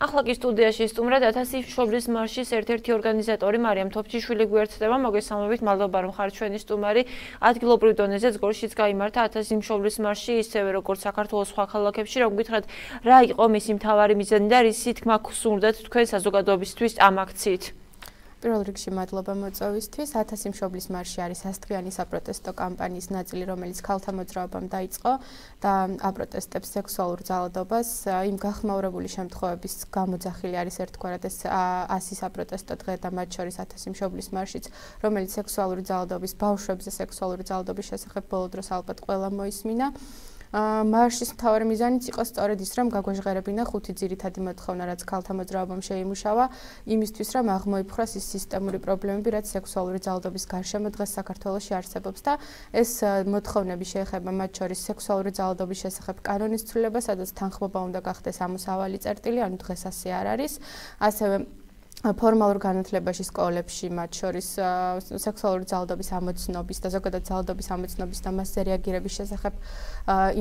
ახლა კი სტუდიაში სტუმრად 1000 მშობლის მარშის ერთ-ერთი ორგანიზატორი მარიამ თოფჩიშვილი გვერდდება. მოგესალმებით, მადლობა რომ ხართ ჩვენი სტუმარი. ადგილობრივ დონეზე ზგორშიც გაიმართა 1000 მშობლის მარში, ისევე როგორც საქართველოს სხვა ქალაქებში. რომ გითხრათ, რა იყო მისი მთავარი მიზანი და რისი თქმა გსურდათ თქვენ საზოგადოებისთვის ამ აქციით? პირველ რიგში მადლობა მოწვევისთვის. 1000 მშობლის მარში არის ასწლიანი საპროტესტო კამპანიის ნაწილი, რომელიც ქალთა მოძრაობამ დაიწყო და აპროტესტებს სექსუალურ ძალადობას. იმ გახმაურებული შემთხვევების გამოძახილი არის ერთგვარად ეს 100 საპროტესტო დღე და მათ შორის 1000 მშობლის მარშიც, რომელიც სექსუალური ძალადობის, ბავშვებზე სექსუალური ძალადობის შესახებ ბოლო დროს ალბათ ყველა მოისმინა. მარშის მთავარი მიზანიც იყო სწორედ ის, რომ გაგვეჟღერებინა 5 ძირითადი მოთხოვნა, რაც ქალთა მოძრაობამ შეიმუშავა, იმისთვის, რომ აღმოიფხვრას ის სისტემური პრობლემები, რაც სექსუალური ძალადობის გარშემო დღეს საქართველოში არსებობს და ეს მოთხოვნები შეეხება მათ შორის სექსუალური ძალადობის შესახებ კანონის ცვლილება, სადაც თანხმობა უნდა გახდეს ამოსავალი წერტილი, ანუ დღეს ასე არ არის. ასევე ფორმალურ განათლებაში სკოლებში მათ შორის სექსუალური ძალადობის ამოცნობის და ზოგადად ძალადობის ამოცნობის და მასზე რეაგირების შესახებ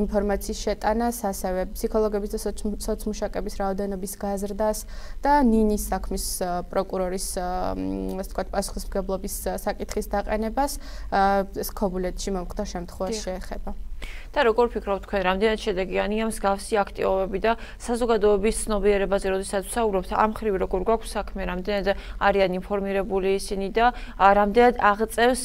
ინფორმაციის შეტანას, ასევე ფსიქოლოგების და სოციმუშაკების რაოდენობის გაზრდას და ნინის საქმის პროკურორის ასე ვთქვათ პასუხისმგებლობის საკითხის დაყენებას ეს ქობულეთში მომხდარ შემთხვევაში შეეხება. და როგორ ფიქრობთ თქვენ, რამდენად შედეგიანია მსგავსი აქტივობები და საზოგადოების ცნობიერებაზე, როდესაც ვსაუბრობთ, ამ ხრივ როგორ გვაქვს საქმე, რამდენად არიან ინფორმირებული ისინი და რამდენად აღწევს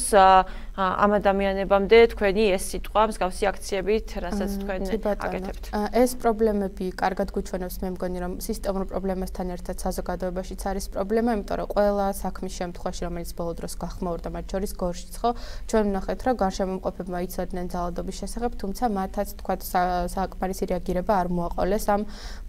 ამ ადამიანებამდე თქვენი ეს სიტყვა მსგავსი აქციებით, რასაც თქვენ აკეთებთ? ეს პრობლემები კარგად გვიჩვენებს, მე მგონი, რომ სისტემურ პრობლემასთან ერთად საზოგადოებაშიც არის პრობლემა, იმიტომ რომ ყველა საქმის შემთხვევაში, რომელიც ბოლო დროს გახმაურდა, მათ შორის გორშიც ხო, ჩვენ ვნახეთ, რომ გარშემომყოფებმა იცოდნენ ძალადობის შესახებ, თუმცა მათაც თქვათ საკმარისი რეაგირება არ მოაყოლეს ამ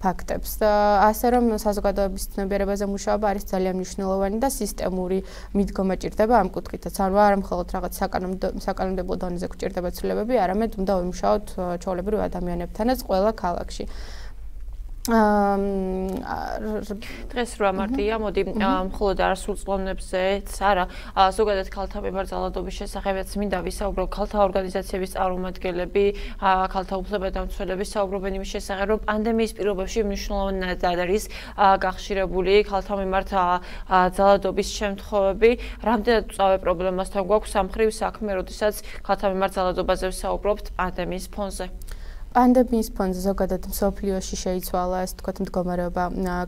ფაქტებს. ასე რომ საზოგადოების ცნობიერებაზე მუშაობა არის ძალიან მნიშვნელოვანი და სისტემური მიდგომა ჭირდება ამ კუთხითაც. არა მხოლოდ რაღაც საკანონმდებლო დონეზე გვჭირდება ცვლილებები, არამედ უნდა ვიმუშაოთ ჩვეულებრივ ადამიანებთანაც ყველა ქალაქში. დღეს რა მარტია, მოდი მხოლოდ არასრულწლოვნებზეც არა, ზოგადად ქალთა მიმართ ძალადობის შესახებაც მინდა ვისაუბრო. ქალთა ორგანიზაციების წარმომადგენლები, ქალთა უფლებადამცველები საუბრობენ იმის შესახებ, რომ პანდემიის პირობებში მნიშვნელოვნად არის გახშირებული ქალთა მიმართ ძალადობის შემთხვევები. რამდენად წავე პრობლემასთან გვაქვს ამ ხრივ საქმე, როდესაც ქალთა მიმართ ძალადობაზე ვსაუბრობთ პანდემიის ფონზე? პანდემიის ფონზე ზოგადად მსოფლიოში შეიცვალა ეს თქვათ მდგომარეობა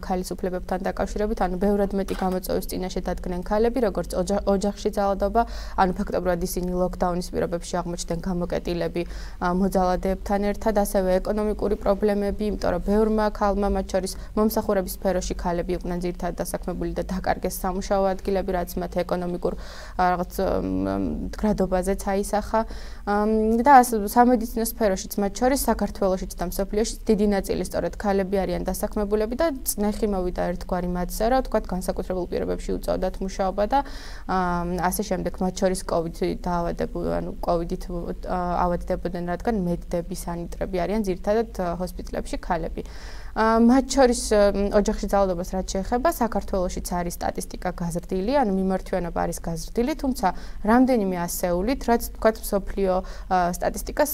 ქალის უფლებებთან დაკავშირებით, ანუ ბევრად მეტი გამოწვევის წინაშე დადგნენ ქალები, როგორც ოჯახში ძალადობა, ანუ ფაქტობრივად ისინი ლოკდაუნის პირობებში აღმოჩნდნენ გამოკეტილები მოძალადეებთან ერთად, ასევე ეკონომიკური პრობლემები, იმიტომ რომ ბევრმა ქალმა, მათ შორის მომსახურების სფეროში ქალები იყვნენ ძირითადად დასაქმებული და დაკარგეს სამუშაო ადგილები, რაც მათ ეკონომიკურ რაღაც გრადობაზეც აისახა და სამედიცინო სფეროშიც მათ შორის საქართველოშიც და მსოფლიოშიც დიდი ნაწილი სწორედ ქალები არიან დასაქმებულები და წნეხი მოვიდა ერთგვარი მათზე, რომ თქვათ განსაკუთრებულ პირობებში უწევდათ მუშაობა და ასე შემდეგ, მათ შორის კოვიდით ავადდებოდნენ, რადგან მედდები, სანიტრები არიან ძირითადად ჰოსპიტალებში ქალები. მათ შორის ოჯახში ძალადობას რაც შეეხება, საქართველოშიც არის სტატისტიკა გაზრდილი, ანუ მიმართვიანობა არის გაზრდილი, თუმცა რამდენიმე ასეულით, რაც თქვათ მსოფლიო სტატისტიკას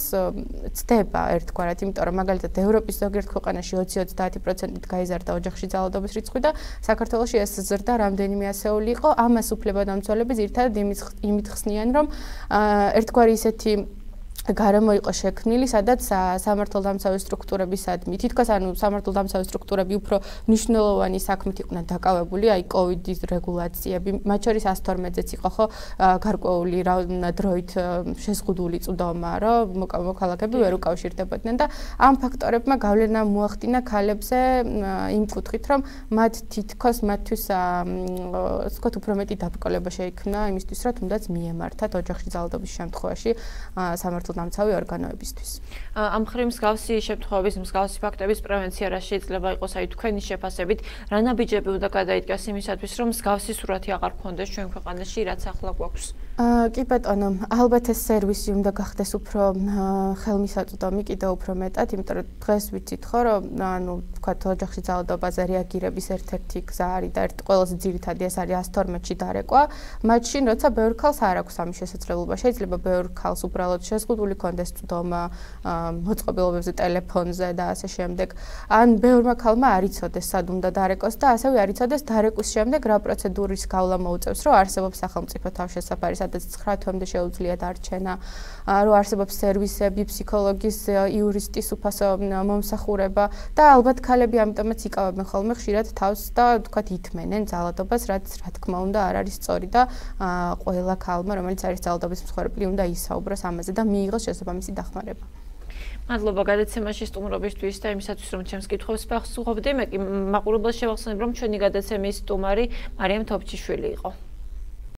ცდება ერთგვარად, იმიტომ რომ მაგალითად ევროპის ზოგიერთ ქვეყანაში 20-30%-ით გაიზარდა ოჯახში ძალადობის რიცხვი და საქართველოში ეს ზრდა რამდენიმე ასეული იყო. ამას უფლებადამცველები ძირითადად იმით ხსნიან, რომ ერთგვარი ისეთი გარემო იყო შექმნილი, სადაც სამართალდამცავი სტრუქტურებისადმი, თითქოს ანუ სამართალდამცავი სტრუქტურები უფრო მნიშვნელოვანი საქმით იყვნენ დაკავებული, აი კოვიდის რეგულაციები, მათ შორის 112-ზეც იყო ხო გარკვეული დროით შეზღუდული წვდომა, რომ მოქალაქეები ვერ უკავშირდებოდნენ და ამ ფაქტორებმა გავლენა მოახდინა ქალებზე იმ კუთხით, რომ მათ თითქოს მათთვის ვთქვათ უფრო მეტი დაბრკოლება შეიქმნა იმისთვის, რომ თუნდაც მიემართათ ოჯახში ძალადობის შემთხვევაში სამართალდამცავი ორგანოებისთვის. ამ ხრივ მსგავსი შემთხვევების, მსგავსი ფაქტების პრევენცია რა შეიძლება იყოს, აი თქვენი შეფასებით, რა ნაბიჯები უნდა გადაიდგას იმისათვის, რომ მსგავსი სურათი აღარ გქონდეს ჩვენ ქვეყანაში, რაც ახლა გვაქვს? კი ბატონო, ალბათ ეს სერვისი უნდა გახდეს უფრო ხელმისაწვდომი, კიდევ უფრო მეტად, იმიტომ რომ დღეს ვიცით ხო, რომ ანუ ვთქვათ ოჯახში ძალადობაზე რეაგირების ერთ-ერთი გზა არის და ყველაზე ძირითადი ეს არის 112-ში დარეკვა. მათ შინ როცა ბევრ ქალს არ აქვს ამის შესაძლებლობა, შეიძლება ბევრ ქალს უბრალოდ შეზღუდული დაკავებული კონდეს წვდომა მოწყობილობებზე ტელეფონზე და ასე შემდეგ. ან ბევრმა ქალმა არ იცოდეს სად უნდა დარეკოს და ასევე არ იცოდეს დარეკვის შემდეგ რა პროცედურის გავლა მოუწევს, რომ არსებობს სახელმწიფო თავშესაფარი, სადაც 9 თვემდე შეუძლიათ არჩენა, რომ არსებობს სერვისები, ფსიქოლოგის, იურისტის უფასო მომსახურება და ალბათ ქალები ამიტომაც იკავებენ ხოლმე ხშირად თავს და თქვათ ითმენენ ძალადობას, რაც რა თქმა უნდა არ არის სწორი და ყველა ქალმა, რომელიც არის ძალადობის მსხვერპლი, უნდა ისაუბროს ამაზე და მიიღოს შესაბამისი დახმარება. მადლობა გადაცემაში სტუმრობისთვის და იმისათვის რომ ჩემს კითხვებს პასუხობდი, მე კი მაყურებელს შევახსენებ რომ ჩვენი გადაცემის სტუმარი მარიამ თოფჩიშვილი იყო.